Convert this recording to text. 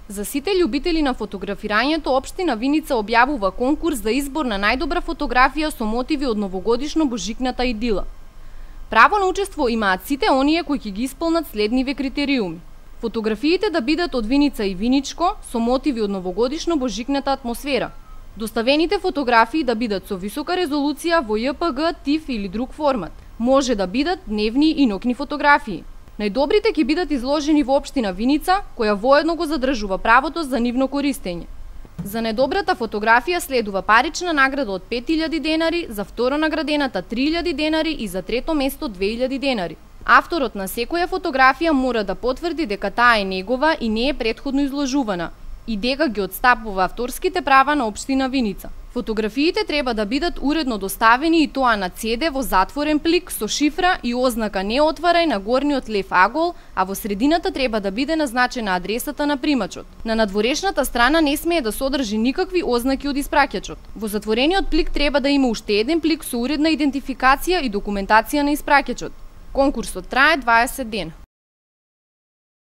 За сите љубители на фотографирањето, општина Виница објавува конкурс за избор на најдобра фотографија со мотиви од новогодишно божикната идила. Право на учество имаат сите оние кои ќе ги исполнат следниве критериуми. Фотографиите да бидат од Виница и Виничко со мотиви од новогодишно божикната атмосфера. Доставените фотографии да бидат со висока резолуција во JPG, TIFF или друг формат. Може да бидат дневни и ноќни фотографии. Најдобрите ќе бидат изложени во општина Виница, која воедно го задржува правото за нивно користење. За најдобрата фотографија следува парична награда од 5000 денари, за второ наградената 3000 денари и за трето место 2000 денари. Авторот на секоја фотографија мора да потврди дека таа е негова и не е претходно изложувана и дека ги отстапува авторските права на општина Виница. Фотографиите треба да бидат уредно доставени и тоа на CD во затворен плик со шифра и ознака "Не отварај" на горниот лев агол, а во средината треба да биде назначена адресата на примачот. На надворешната страна не смее да содржи никакви ознаки од испраќачот. Во затворениот плик треба да има уште еден плик со уредна идентификација и документација на испраќачот. Конкурсот трае 20 дена.